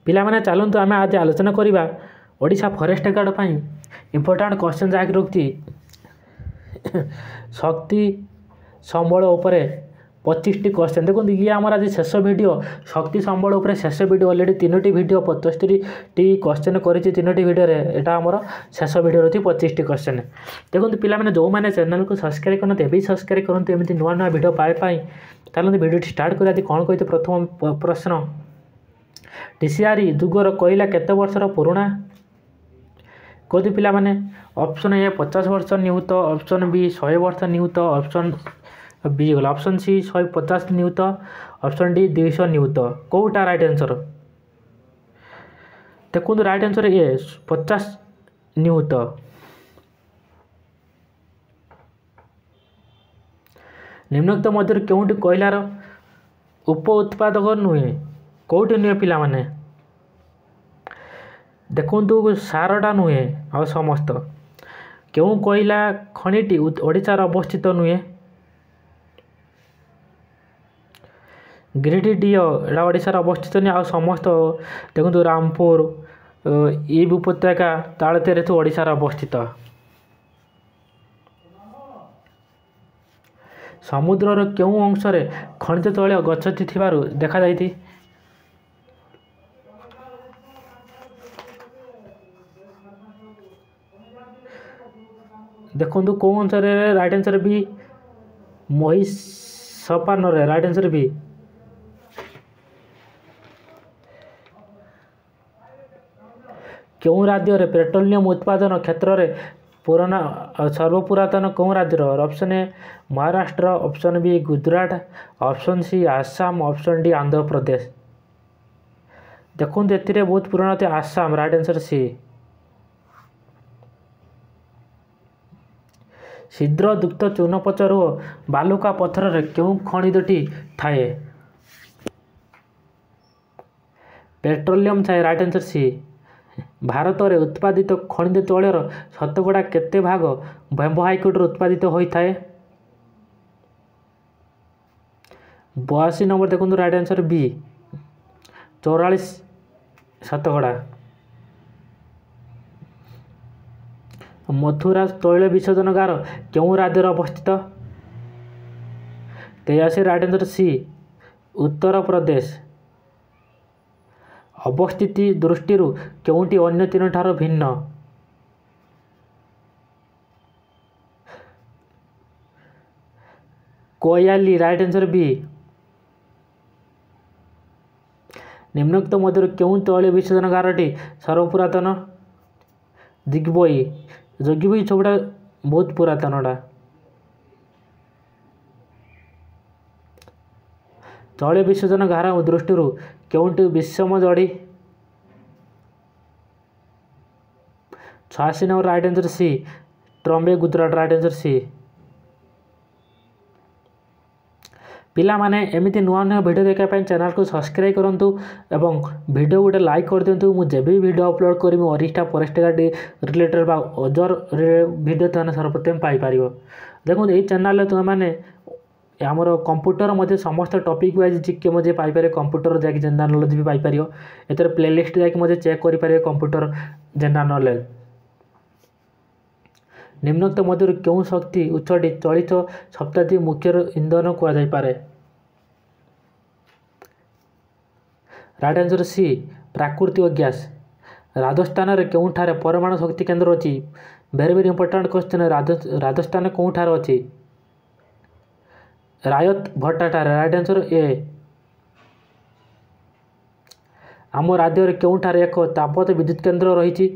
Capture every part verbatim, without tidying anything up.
ପିଲାମାନେ ଚାଲନ୍ତୁ ଆମେ ଆଜି ଆଲୋଚନା କରିବା ଓଡ଼ିଶା ଫରେଷ୍ଟ ଗାର୍ଡ଼ ପାଇଁ ଇମ୍ପୋର୍ଟାଣ୍ଟ କ୍ୱେଶ୍ଚନ୍ ଯାହାକି ରହୁଛି ଶକ୍ତି ସମ୍ବଳ ଉପରେ ପଚିଶଟି କ୍ୱେଶ୍ଚନ୍। ଦେଖନ୍ତୁ, ଇଏ ଆମର ଆଜି ଶେଷ ଭିଡ଼ିଓ, ଶକ୍ତି ସମ୍ବଳ ଉପରେ ଶେଷ ଭିଡ଼ିଓ। ଅଲରେଡ଼ି ତିନୋଟି ଭିଡ଼ିଓ ପଞ୍ଚସ୍ତରୀଟି କ୍ୱେଶ୍ଚନ୍ କରିଛି ତିନୋଟି ଭିଡ଼ିଓରେ। ଏଇଟା ଆମର ଶେଷ ଭିଡ଼ିଓ ରହୁଛି ପଚିଶଟି କ୍ୱେଶ୍ଚନ୍। ଦେଖନ୍ତୁ ପିଲାମାନେ, ଯେଉଁମାନେ ଚ୍ୟାନେଲକୁ ସବସ୍କ୍ରାଇବ୍ କରନ୍ତି ଏବେ ସବସ୍କ୍ରାଇବ୍ କରନ୍ତୁ ଏମିତି ନୂଆ ନୂଆ ଭିଡ଼ିଓ ପାଇବା ପାଇଁ। ଚାଲନ୍ତୁ ଭିଡ଼ିଓଟି ଷ୍ଟାର୍ଟ କରିବା। ଆଜି କ'ଣ କହିଛି? ପ୍ରଥମ ପ୍ରଶ୍ନ, ଟିସିଆରି ଯୁଗର କୋଇଲା କେତେ ବର୍ଷର ପୁରୁଣା? କହୁଛି ପିଲାମାନେ, ଅପସନ୍ ଏ ପଚାଶ ବର୍ଷ ନିୟୁତ, ଅପସନ୍ ବି ଶହେ ବର୍ଷ ନିୟୁତ, ଅପସନ୍ ବି ଗଲା, ଅପସନ୍ ସି ଶହେ ପଚାଶ ନିୟୁତ, ଅପସନ୍ ଡି ଦୁଇଶହ ନିୟୁତ। କେଉଁଟା ରାଇଟ୍ ଆନ୍ସର୍? ଦେଖନ୍ତୁ, ରାଇଟ୍ ଆନ୍ସର୍ ଏ ପଚାଶ ନିୟୁତ। ନିମ୍ନୋକ୍ତ ମଧ୍ୟରୁ କେଉଁଟି କୋଇଲାର ଉପ ଉତ୍ପାଦକ ନୁହେଁ? କେଉଁଟି ନୁହେଁ ପିଲାମାନେ? ଦେଖନ୍ତୁ, ସାରଟା ନୁହେଁ, ଆଉ ସମସ୍ତ। କେଉଁ କୋଇଲା ଖଣିଟି ଓଡ଼ିଶାର ଅବସ୍ଥିତ ନୁହେଁ? ଗିରିଡିହ, ଏଇଟା ଓଡ଼ିଶାର ଅବସ୍ଥିତ ନୁହେଁ, ଆଉ ସମସ୍ତ। ଦେଖନ୍ତୁ, ରାମପୁର, ଇବ୍ ଉପତ୍ୟକା, ତାଳଚେର ସବୁ ଓଡ଼ିଶାର ଅବସ୍ଥିତ। ସମୁଦ୍ରର କେଉଁ ଅଂଶରେ ଖଣିଜ ତୈଳ ଗଚ୍ଛିତ ଥିବାରୁ ଦେଖାଯାଇଛି? ଦେଖନ୍ତୁ, କେଉଁ ଅଂଶରେ? ରାଇଟ୍ ଆନ୍ସର୍ ବି, ମହିଷପାନରେ, ରାଇଟ୍ ଆନ୍ସର୍ ବି। କେଉଁ ରାଜ୍ୟରେ ପେଟ୍ରୋଲିୟମ ଉତ୍ପାଦନ କ୍ଷେତ୍ରରେ ପୁରୁଣା ସର୍ବପୁରାତନ? କେଉଁ ରାଜ୍ୟର? Option A Maharashtra, option B Gujarat, option C Assam, option D Andhra Pradesh. ଦେଖନ୍ତୁ, ଏଥିରେ ବହୁତ ପୁରୁଣା ଅଛି ଆସାମ, ରାଇଟ୍ ଆନ୍ସର୍ ସି। ଛିଦ୍ରଯୁକ୍ତ ଚୂନପଥର ଓ ବାଲୁକା ପଥରରେ କେଉଁ ଖଣିଜଟି ଥାଏ? ପେଟ୍ରୋଲିୟମ ଥାଏ, ରାଇଟ୍ ଆନ୍ସର୍ ସି। ଭାରତରେ ଉତ୍ପାଦିତ ଖଣିଜ ତୈଳର ଶତକଡ଼ା କେତେ ଭାଗ ବ୍ୟବହାରିକରୁ ଉତ୍ପାଦିତ ହୋଇଥାଏ? ବୟାଅଶୀ ନମ୍ବର, ଦେଖନ୍ତୁ, ରାଇଟ୍ ଆନ୍ସର୍ ବି, ଚଉରାଳିଶ ଶତକଡ଼ା। ମଥୁରା ତୈଳ ବିଶୋଧନାଗାର କେଉଁ ରାଜ୍ୟରେ ଅବସ୍ଥିତ? ତେୟାଅଶୀ, ରାଇଟ୍ ଆନ୍ସର୍ ସି, ଉତ୍ତରପ୍ରଦେଶ। ଅବସ୍ଥିତି ଦୃଷ୍ଟିରୁ କେଉଁଟି ଅନ୍ୟ ତିନିଠାରୁ ଭିନ୍ନ? କୋୟାଲି, ରାଇଟ୍ ଆନ୍ସର୍ ବି। ନିମ୍ନୋକ୍ତ ମଧ୍ୟରୁ କେଉଁ ତୈଳ ବିଶୋଧନାଗାରଟି ସର୍ବପୁରାତନ? ଦିଗବୋଇ, ଯୋଗୀବୋଇ ସବୁଟା ବହୁତ ପୁରାତନଟା। ତୈଳ ବିଶୋଧନାଗାର ଦୃଷ୍ଟିରୁ କେଉଁଟି ବିଷମ ଜଡ଼ି? ଛୟାଅଶୀ number, right answer C, Trombay, Gujarat, right answer C. ପିଲାମାନେ, ଏମିତି ନୂଆ ନୂଆ ଭିଡ଼ିଓ ଦେଖିବା ପାଇଁ ଚ୍ୟାନେଲକୁ ସବସ୍କ୍ରାଇବ୍ କରନ୍ତୁ ଏବଂ ଭିଡ଼ିଓ ଗୋଟେ ଲାଇକ୍ କରିଦିଅନ୍ତୁ। ମୁଁ ଯେବେ ବି ଭିଡ଼ିଓ ଅପଲୋଡ଼ କରିବି ଓଡ଼ିଶା ଫରେଷ୍ଟ ଗାର୍ଡ଼ ରିଲେଟେଡ଼ ବା ଅଦର ଭିଡ଼ିଓ, ତୁମେ ସର୍ବପ୍ରଥମେ ପାଇପାରିବ। ଦେଖନ୍ତୁ, ଏଇ ଚ୍ୟାନେଲରେ ତୁମେମାନେ ଆମର କମ୍ପ୍ୟୁଟର ମଧ୍ୟ ସମସ୍ତ ଟପିକ୍ ୱାଇଜ୍ ଜିକେ ମଧ୍ୟ ପାଇପାରିବ। କମ୍ପ୍ୟୁଟର ଯାଇକି ଜେନେରାଲ ନଲେଜ ବି ପାଇପାରିବ। ଏଥିରେ ପ୍ଲେଲିଷ୍ଟ ଯାଇକି ମଧ୍ୟ ଚେକ୍ କରିପାରିବେ କମ୍ପ୍ୟୁଟର ଜେନେରାଲ ନଲେଜ। ନିମ୍ନୋକ୍ତ ମଧ୍ୟରୁ କେଉଁ ଶକ୍ତି ଉତ୍ସଟି ଚଳିତ ଶତାବ୍ଦୀ ମୁଖ୍ୟ ଇନ୍ଧନ କୁହାଯାଇପାରେ? ରାଇଟ୍ ଆନ୍ସର୍ ସି, ପ୍ରାକୃତିକ ଗ୍ୟାସ୍। ରାଜସ୍ଥାନରେ କେଉଁଠାରେ ପରମାଣୁ ଶକ୍ତି କେନ୍ଦ୍ର ଅଛି? Very very important question. Rajasthan କେଉଁଠାରେ ଅଛି? ରାୟତ ଭଟ୍ଟାଠାରେ, ରାଇଟ୍ ଆନ୍ସର୍ ଏ। ଆମ ରାଜ୍ୟରେ କେଉଁଠାରେ ଏକ ତାପଜ ବିଦ୍ୟୁତ କେନ୍ଦ୍ର ରହିଛି?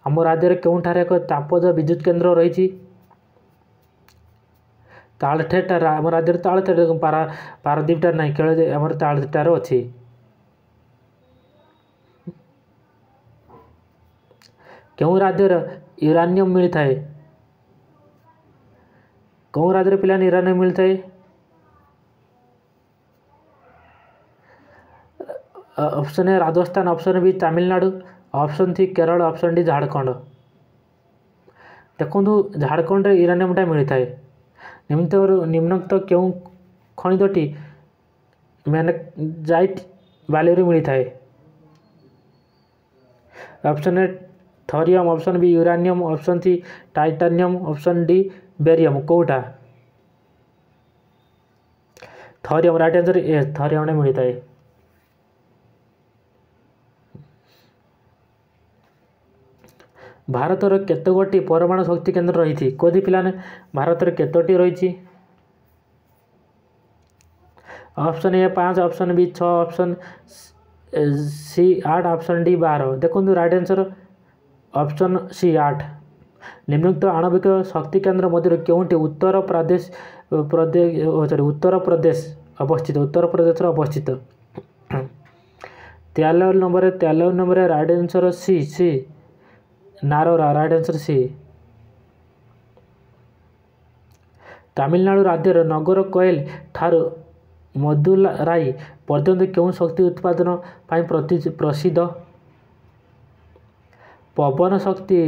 ଆମ ରାଜ୍ୟରେ କେଉଁଠାରେ ଏକ ତାପଜ ବିଦ୍ୟୁତ କେନ୍ଦ୍ର ରହିଛି? ତାଳଚେରଠାରେ। ଆମ ରାଜ୍ୟରେ ତାଳଚେର, ପାରା ପାରାଦ୍ୱୀପଠାରେ ନାହିଁ, କେବଳ ଆମର ତାଳଚେରଠାରେ ଅଛି। କେଉଁ ରାଜ୍ୟରେ ୟୁରାନିୟମ ମିଳିଥାଏ? କେଉଁ ରାଜ୍ୟରେ ପିଲାମାନେ ୟୁରାନିୟମ ମିଳିଥାଏ? Option A Rajasthan, option B Tamil Nadu, option C Kerala, option D Jharkhand. ଦେଖନ୍ତୁ, ଝାଡ଼ଖଣ୍ଡରେ ୟୁରାନିୟମଟା ମିଳିଥାଏ। ନିମ୍ନୋକ୍ତ କେଉଁ ଖଣିଜଟି ମ୍ୟାଗ୍ନେଜାଇଟ୍ ବାଲିରୁ ମିଳିଥାଏ? Option A thorium, option B uranium, option C titanium, option D barium. କେଉଁଟା? ଥରିୟମ୍। ରାଇଟ୍ ଆନ୍ସର୍ ଏ, ଥରିୟମ୍ରେ ମିଳିଥାଏ। ଭାରତର କେତେ ଗୋଟି ପରମାଣୁ ଶକ୍ତି କେନ୍ଦ୍ର ରହିଛି? କୋଉଠି ପିଲାମାନେ, ଭାରତରେ କେତୋଟି ରହିଛି? ଅପସନ୍ ଏ ପାଞ୍ଚ, ଅପସନ୍ ବି ଛଅ, ଅପସନ୍ ସି ଆଠ, ଅପସନ୍ ଡି ବାର। ଦେଖନ୍ତୁ, ରାଇଟ୍ ଆନ୍ସର୍ ଅପସନ୍ ସି ଆଠ। ନିମ୍ନୋକ୍ତ ଆଣବିକ ଶକ୍ତି କେନ୍ଦ୍ର ମଧ୍ୟରୁ କେଉଁଟି ଉତ୍ତର ପ୍ରଦେଶ ପ୍ରଦେଶ ସରି ଉତ୍ତରପ୍ରଦେଶ ଅବସ୍ଥିତ? ଉତ୍ତରପ୍ରଦେଶର ଅବସ୍ଥିତ। ତେୟାନବେ ନମ୍ବରରେ, ତେୟାନବେ ନମ୍ବରରେ right answer C, C Narora, right answer C. Tamil Nadu ରାଜ୍ୟର ନଗର କୋଏଲ ଠାରୁ ମଦୁରାଇ ପର୍ଯ୍ୟନ୍ତ କେଉଁ ଶକ୍ତି ଉତ୍ପାଦନ ପାଇଁ ପ୍ରସିଦ୍ଧ? ପବନ ଶକ୍ତି।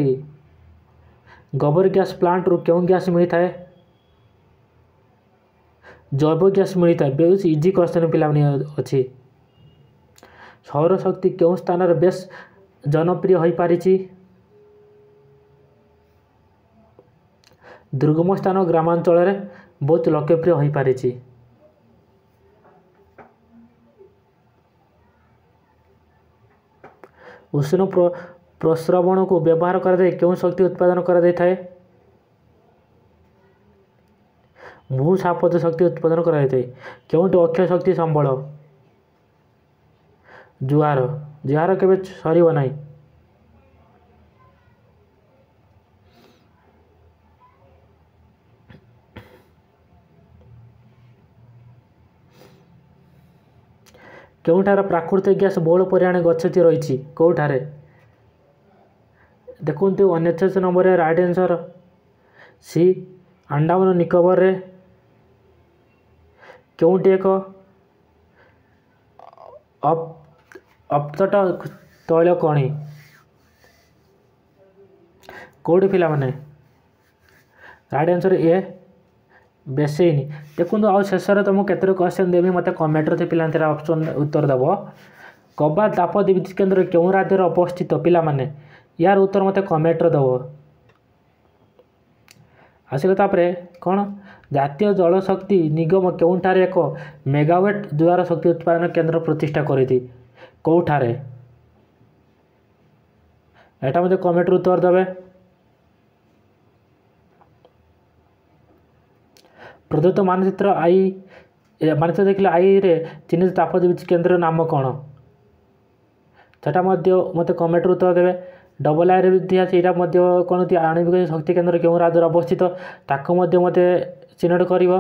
ଗୋବର ଗ୍ୟାସ୍ ପ୍ଲାଣ୍ଟରୁ କେଉଁ ଗ୍ୟାସ୍ ମିଳିଥାଏ? ଜୈବ ଗ୍ୟାସ୍ ମିଳିଥାଏ। ବହୁତ ଇଜି କ୍ୱେଶ୍ଚନ୍ ପିଲାମାନେ ଅଛି। ସୌରଶକ୍ତି କେଉଁ ସ୍ଥାନରେ ବେଶ ଜନପ୍ରିୟ ହୋଇପାରିଛି? ଦୁର୍ଗମ ସ୍ଥାନ, ଗ୍ରାମାଞ୍ଚଳରେ ବହୁତ ଲୋକପ୍ରିୟ ହୋଇପାରିଛି। ଉଷ୍ଣ ପ୍ରସ୍ରବଣକୁ ବ୍ୟବହାର କରାଯାଇ କେଉଁ ଶକ୍ତି ଉତ୍ପାଦନ କରାଯାଇଥାଏ? ଭୂତାପଜ ଶକ୍ତି ଉତ୍ପାଦନ କରାଯାଇଥାଏ। କେଉଁଟି ଅକ୍ଷୟ ଶକ୍ତି ସମ୍ବଳ? ଜୁଆର, ଯାହାର କେବେ ସରିବ ନାହିଁ। କେଉଁଠାରେ ପ୍ରାକୃତିକ ଗ୍ୟାସ୍ ବହୁଳ ପରିମାଣରେ ଗଚ୍ଛିତ ରହିଛି? କେଉଁଠାରେ? ଦେଖନ୍ତୁ, ଅଣଚାଶ ନମ୍ବରରେ ରାଇଟ୍ ଆନ୍ସର୍ ସି, ଆଣ୍ଡାମାନ ନିକୋବରରେ। କେଉଁଟି ଏକ ଅପତଟ ତୈଳ ଖଣି? କେଉଁଠି ପିଲାମାନେ? ରାଇଟ୍ ଆନ୍ସର୍ ଏ, ବେସିନ୍। ଦେଖନ୍ତୁ, ଆଉ ଶେଷରେ ତୁମକୁ କେତୋଟି କ୍ୱେଶ୍ଚନ୍ ଦେବି, ମୋତେ କମେଣ୍ଟରେ ପିଲାମାନେ ତାର ଅପସନ୍ ଉତ୍ତର ଦେବ। କବା ତାପ ବିଦ୍ୟୁତ କେନ୍ଦ୍ର କେଉଁ ରାଜ୍ୟରେ ଅବସ୍ଥିତ? ପିଲାମାନେ, ୟାର ଉତ୍ତର ମୋତେ କମେଣ୍ଟରେ ଦେବ। ଆସିଲା ତାପରେ କ'ଣ? ଜାତୀୟ ଜଳଶକ୍ତି ନିଗମ କେଉଁଠାରେ ଏକ ମେଗାୱାଟ୍ ଜୁଆର ଶକ୍ତି ଉତ୍ପାଦନ କେନ୍ଦ୍ର ପ୍ରତିଷ୍ଠା କରିଛି? କେଉଁଠାରେ? ଏଟା ମଧ୍ୟ କମେଣ୍ଟରେ ଉତ୍ତର ଦେବେ। ପ୍ରଦତ୍ତ ମାନଚିତ୍ର I ମାନଚିତ୍ର ଦେଖିଲେ ଆଇରେ ଚିହ୍ନିତ ତାପ ବିଦ୍ୟୁତ କେନ୍ଦ୍ରର ନାମ କ'ଣ? ସେଟା ମଧ୍ୟ ମୋତେ କମେଣ୍ଟରେ ଉତ୍ତର ଦେବେ। ଡବଲ୍ ଆଇରେ ବି ଦିଆଛି, ଏଇଟା ମଧ୍ୟ କ'ଣ? ଆଣବିକ ଶକ୍ତି କେନ୍ଦ୍ର କେଉଁ ରାଜ୍ୟରେ ଅବସ୍ଥିତ, ତାକୁ ମଧ୍ୟ ମୋତେ ଚିହ୍ନଟ କରିବ।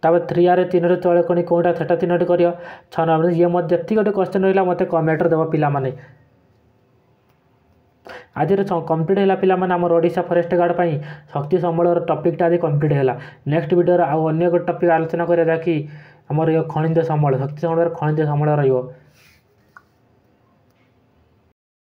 ତାପରେ ଥ୍ରୀ ଆର୍ ତିନୋଟି ତୈଳ ଖଣି କେଉଁଟା, ସେଟା ଚିହ୍ନଟ କରିବ। ଛଅ ନମ୍ବର ଇଏ ମଧ୍ୟ, ଯେତିକି ଗୋଟେ କ୍ୱେଶ୍ଚନ୍ ରହିଲା, ମୋତେ କମେଣ୍ଟରେ ଦେବ ପିଲାମାନେ। ଆଜିର କମ୍ପ୍ଲିଟ୍ ହେଲା ପିଲାମାନେ, ଆମର ଓଡ଼ିଶା ଫରେଷ୍ଟ ଗାର୍ଡ଼ ପାଇଁ ଶକ୍ତି ସମ୍ବଳର ଟପିକ୍ଟା ଆଜି କମ୍ପ୍ଲିଟ୍ ହେଲା। ନେକ୍ସଟ ଭିଡ଼ିଓରେ ଆଉ ଅନ୍ୟ ଏକ ଟପିକ୍ ଆଲୋଚନା କରିବା, ଯାହାକି ଆମର ଖଣିଜ ସମ୍ବଳ, ଶକ୍ତି ସମ୍ବଳର ଖଣିଜ ସମ୍ବଳ ରହିବ।